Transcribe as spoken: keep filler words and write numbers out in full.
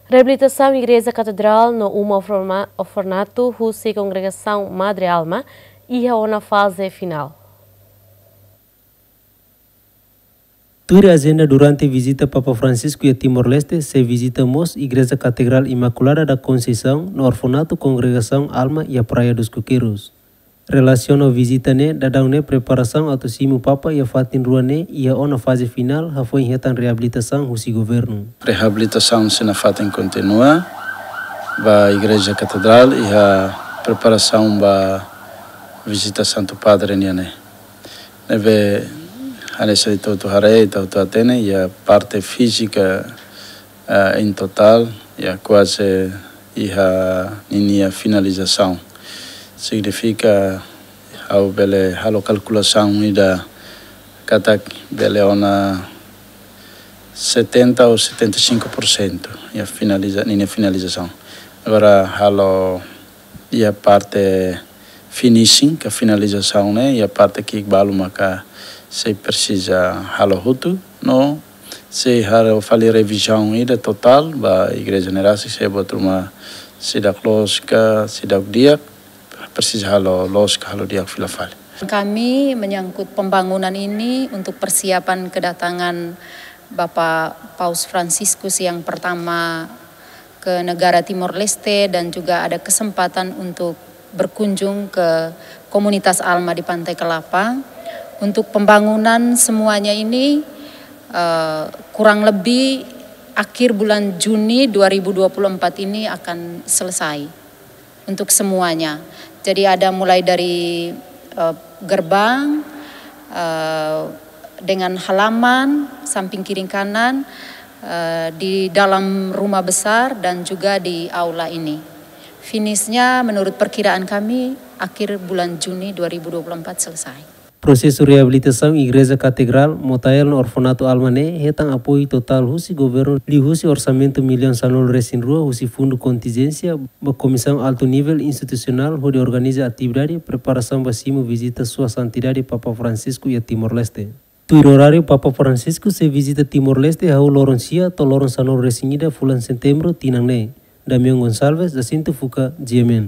Reabilitasaun Igreja Katedrál no uma orfana-, orfanatu husi Kongregasaun Madre Alma iha ona faze finál. Tuir ajenda durante vizita Papa Francisco iha Timor-Leste, sei vizita mós Igreja Katedrál Imaculada da Conceição no orfanatu Kongregasaun Alma iha Praia dos Coqueiros. Relasiona ho vizita ne'e, daudaun ne'e preparasaun atu simu Papa iha fatin rua ne'e iha ona faze finál, hafoin hetan reabilitasaun husi governu. Reabilitasaun sei nafatin kontinua ba Igreja Katedrál iha preparasaun ba vizita Santu Padre nian ne'e. Ne'ebé hanesan ita hotu haree, ita hotu hatene, iha parte fízika, ah, em total, iha kuaze iha ninia finalizasaun. Signifika, ha'u bele halo kalkulasaun ida katak bele ona setenta ou setenta e cinco por cento iha finaliza-, ninia finalizasaun. Agora halo iha parte finishing, ka finalizasaun ne'e, iha parte ki'ik balu maka sei presiza halo hotu, no sei halo fali revizaun ida totál ba igreja ne'e rasik, se buat ruma seidauk loos ka seidauk di'ak, presiza halo loos ka halo di'ak fila fali. Kami menyangkut pembangunan ini untuk persiapan kedatangan Bapak Paus Fransiskus yang pertama ke negara Timor Leste dan juga ada kesempatan untuk berkunjung ke komunitas Alma di Pantai Kelapa. Untuk pembangunan semuanya ini, eh, kurang lebih akhir bulan Juni dua ribu dua puluh empat ini akan selesai untuk semuanya. Jadi ada mulai dari, eh, gerbang, eh, dengan halaman, samping kiri kanan, eh, di dalam rumah besar dan juga di aula ini. Finishnya menurut perkiraan kami akhir bulan Juni dua ribu dua puluh empat selesai. Prosesu reabilitasaun Igreja Katedrál, Motael no Orfanatu Alma ne'e hetan apoiu totál husi governu liuhusi orsamentu millaun sanulu-resin-rua husi fundu kontinjénsia ba Komisaun Altu Nivel Institusionál hodi organiza atividade preparasaun ba simu vizita Sua Santidade Papa Francisco iha Timor-Leste. Tuir oráriu, Papa Francisco sei vizita Timor-Leste hahú loron sia to'o loron sanulu-resin-ida fulan Setembru tinan ne'e. Damião Gonçalves, Jacinto Fuca, G M N.